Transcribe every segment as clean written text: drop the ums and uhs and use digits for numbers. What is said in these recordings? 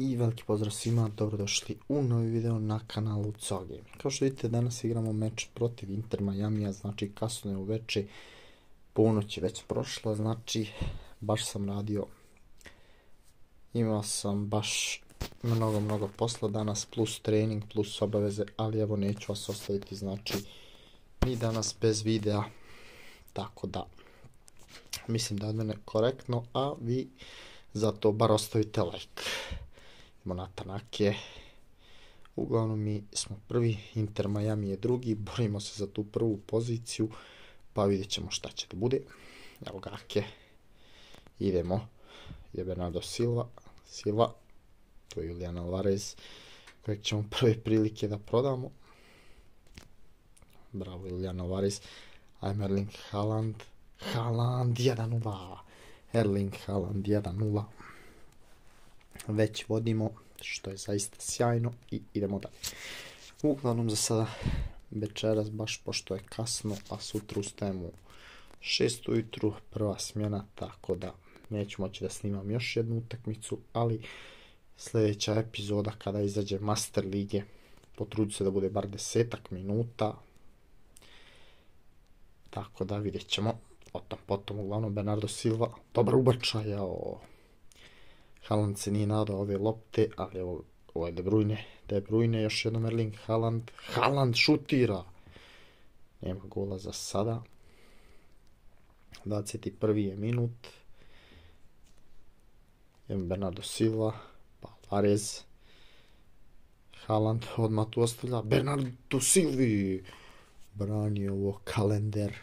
I veliki pozdrav svima, dobrodošli u novi video na kanalu CO Gaming. Kao što vidite, danas igramo meč protiv Inter Miamija, znači kasno je uveče, ponoć je već prošla, znači baš sam radio. Imao sam baš mnogo posla danas, plus trening, plus obaveze, ali evo neću vas ostaviti, znači ni danas bez videa, tako da mislim da je od mene korektno, a vi zato bar ostavite like. Idemo na Tanake. Uglavnom mi smo prvi, Inter Miami je drugi, borimo se za tu prvu poziciju, pa vidjet ćemo šta će da bude. Evo ga Ake. Idemo. Ide Bernardo Silva, to je Julian Alvarez, kojeg ćemo prve prilike da prodamo. Bravo Julian Alvarez. Ajme Erling Haaland. Haaland 1-0. Erling Haaland 1-0. Već vodimo, što je zaista sjajno, i idemo dalje. Uglavnom za sada večeras, baš pošto je kasno, a sutra ustajemo u 6 ujutru, prva smjena, tako da neću moći da snimam još jednu utakmicu, ali sljedeća epizoda kada izađe Master lige, potrudit se da bude bar 10 minuta, tako da vidjet ćemo. Potom uglavnom Bernardo Silva, dobar ubačaj, Haaland se nije nadao ove lopte, ali ovo je De Bruyne, još jednom Erling Haaland. Haaland šutira! Nema gola za sada. 21. je minut. Idemo Bernardo Silva, pa Alvarez. Haaland odmah tu ostavlja. Bernardo Silvi! Brani ovo kalender.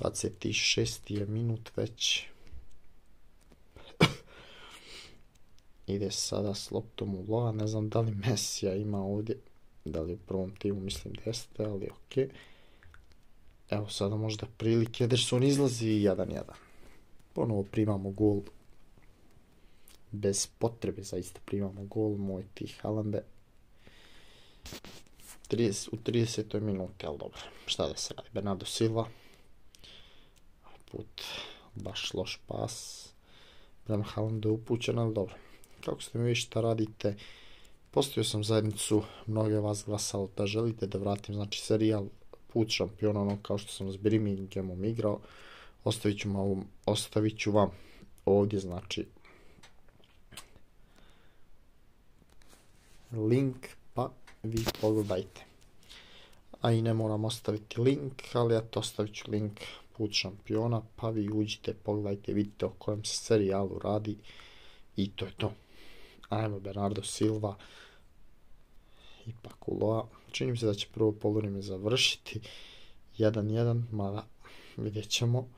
26. je minut već. Ide sada s loptom u Loa, ne znam da li Messija ima ovdje, da li u prvom timu, mislim da jeste, ali ok. Evo sada možda prilike, Ederson izlazi 1-1. Ponovo primamo gol, bez potrebe zaista primamo gol, moj ti Haalande. U 30. minuti, ali dobro, šta da se radi, Bernardo Silva. Put, baš loš pas, prema Haalandu je upućen, ali dobro. Kako ste mi vi šta radite, postavio sam zajednicu, mnoge vas glasalo da želite da vratim, znači serijal Put šampiona, ono kao što sam s Birminghamom igrao, ostavit ću vam ovdje, znači link, pa vi pogledajte. A i ne moram ostaviti link, ali eto, ostavit ću link Put šampiona, pa vi uđite, pogledajte, vidite o kojem se serijalu radi i to je to. Ajmo Bernardo Silva, ipak u Loa. Čini mi se da će prvo poluvrijeme završiti 1-1, mada vidjet ćemo.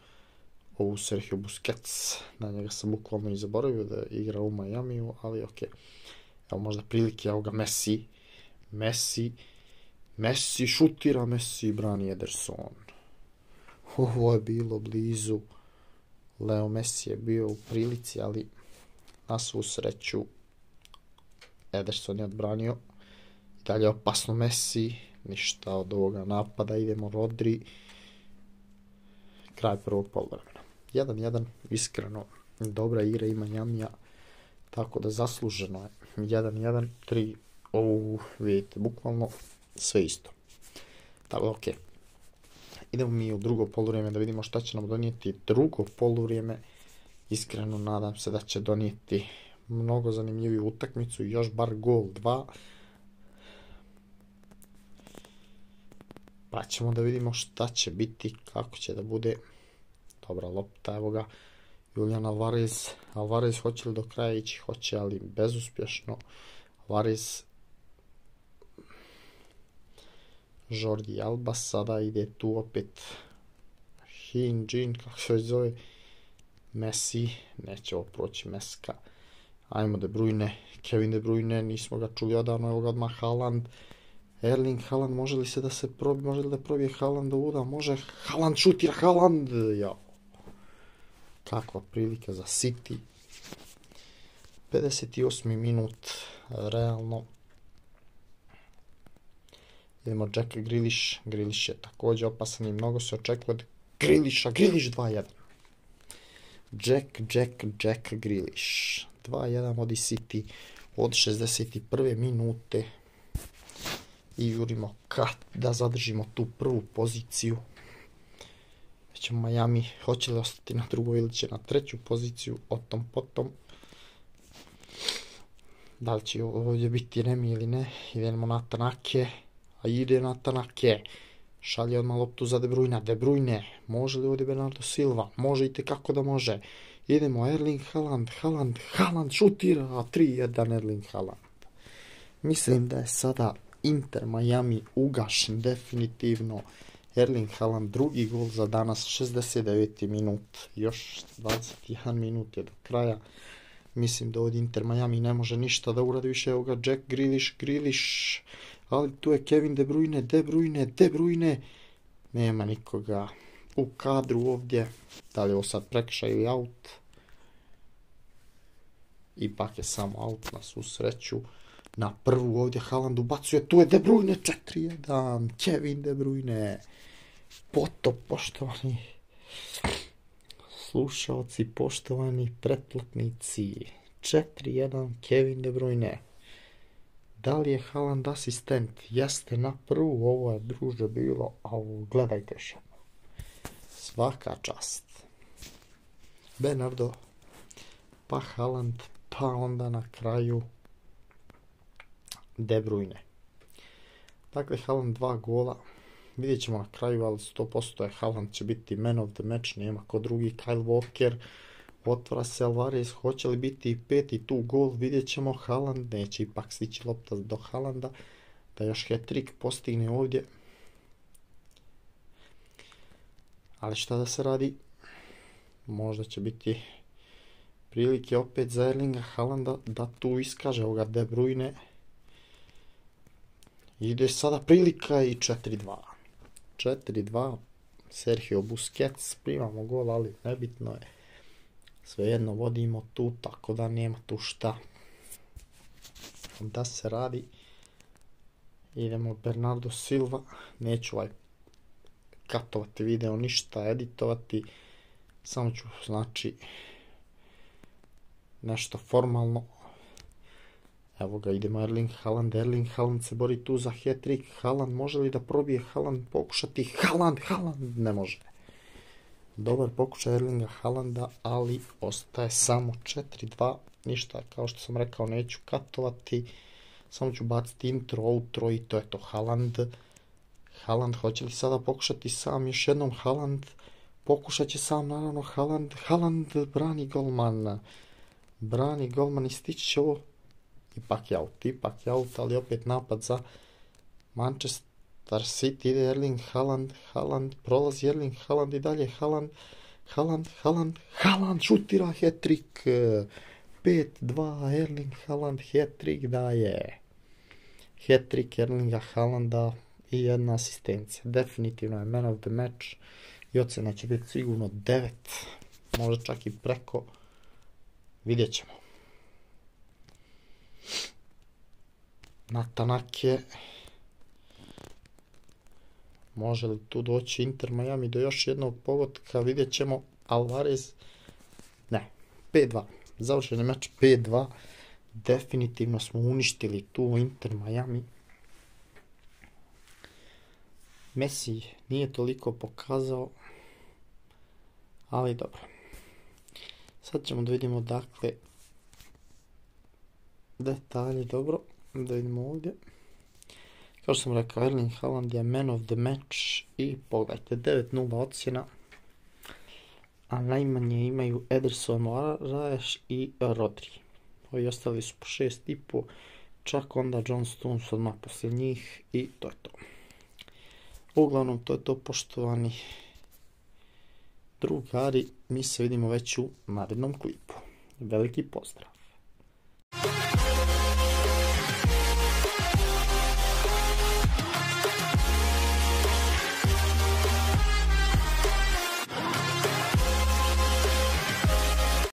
Ovu Sergio Busquets, na njega sam bukvalno i zaboravio da igra u Miamiju, ali ok. Evo možda prilike, evo ga Messi šutira, Messi brani Ederson. Ovo je bilo blizu. Leo Messi je bio u prilici, ali na svu sreću Ederson je odbranio. I dalje opasno Messi, ništa od ovoga napada, idemo Rodri. Kraj prvog poluvremena. 1-1, iskreno, dobra igra ima Miamija, tako da zasluženo je. 1-1, 3, vidite, bukvalno sve isto. Tako da, ok. Idemo mi u drugo poluvrijeme da vidimo šta će nam donijeti drugo poluvrijeme. Iskreno nadam se da će donijeti mnogo zanimljiviju utakmicu i još bar gol 2. Pa ćemo da vidimo šta će biti, kako će da bude. Dobra lopta, evo ga Julian Alvarez. Alvarez hoće li do kraja ići? Hoće, ali bezuspješno. Alvarez, Jordi Alba, sada ide tu opet Jin, kako se zove, Messi, neće ovo proći Meska. Ajmo De Bruyne, Kevin De Bruyne, nismo ga čuli odavno, evo ga odmah Haaland. Erling Haaland, može li da probije Haaland ovuda? Može, Haaland šutira, Haaland! Kakva prilika za City. 58. minut, realno. Idemo Jack Grealish, Grealish je također opasan i mnogo se očekuje od Grealisha, Grealish 2-1. Jack Grealish. 2-1 vodi City od 61. minute i jurimo da zadržimo tu prvu poziciju. Već Miami hoće li ostati na drugoj ili će na treću poziciju, o tom potom. Da li će ovdje biti remi ili ne, idemo na Tanake, a ide na Tanake. Šalje odmah loptu za De Bruyne. De Bruyne, može li ovdje Bernardo Silva? Može i tekako da može. Idemo Erling Haaland šutira, 3-1 Erling Haaland. Mislim da je sada Inter Miami ugašen definitivno. Erling Haaland drugi gol za danas, 69. minut. Još 21 minut je do kraja. Mislim da ovdje Inter Miami ne može ništa da uradi više. Evo ga Jack Grealish. Ali tu je Kevin De Bruyne. Nema nikoga u kadru ovdje. Da li je ovo sad prekršaj ili out? Ipak je samo out na svu sreću. Na prvu ovdje Haaland ubacuje. Tu je De Bruyne 4-1. Kevin De Bruyne. Potop, poštovani slušalci, poštovani pretplatnici. 4-1 Kevin De Bruyne. Da li je Haaland asistent? Jeste na prvu, ovo je druže bilo, a gledajte še. Svaka čast. Bernardo, pa Haaland, pa onda na kraju De Bruyne. Dakle, Haaland 2 gola. Vidjet ćemo na kraju, ali 100% je Haaland će biti man of the match, nema ko drugi. Kyle Walker, otvara se Alvarez, hoće li biti peti tu gol, vidjet ćemo. Haaland neće ipak stići lopta do Haalanda, da još hat-trick postigne ovdje. Ali šta da se radi, možda će biti prilike opet za Erlinga Haalanda da tu iskaže ovoga De Bruyne. Ide sada prilika i 4-2. 4-2, Sergio Busquets, primamo gol, ali nebitno je. Svejedno vodimo tu, tako da nema tu šta da se radi. Idemo Bernardo Silva, neću katovati video, ništa editovati. Samo ću, znači, nešto formalno. Evo ga, idemo Erling Haaland se bori tu za hat-trick. Haaland, može li da probije Haaland, pokušati Haaland, ne može. Dobar pokušaj Erlinga Haalanda, ali ostaje samo 4-2. Ništa, kao što sam rekao, neću katovati. Samo ću baciti intro, outro i to je to. Haaland, hoće li sada pokušati sam još jednom? Haaland, pokušat će sam, naravno. Haaland brani golman i stići će ovo. Ipak je out, ali opet napad za Manchester City. Ide Erling Haaland, prolazi Erling Haaland i dalje Haaland šutira hat-trick. 5-2 Erling Haaland hat-trick daje. Hat-trick Erlinga Haalanda i jedna asistencija. Definitivno je man of the match i ocena će biti sigurno 9, možda čak i preko. Vidjet ćemo. Na Tanake. Može li tu doći Inter Miami do još jednog pogotka? Vidjet ćemo. Alvarez. Ne. 5-2. Završen je meč 5-2. Definitivno smo uništili tu Inter Miami. Messi nije toliko pokazao. Ali dobro. Sad ćemo da vidimo dakle detalje. Dobro. Da vidimo ovdje. Kao što sam rekao, Erling Haaland je man of the match i pogledajte, 9-0 ocjena, a najmanje imaju Ederson, Moraes i Rodri. Ovi ostali su po 6,5, čak onda John Stones odmah poslije njih i to je to. Uglavnom, to je to, poštovani drugari, mi se vidimo već u narednom klipu. Veliki pozdrav!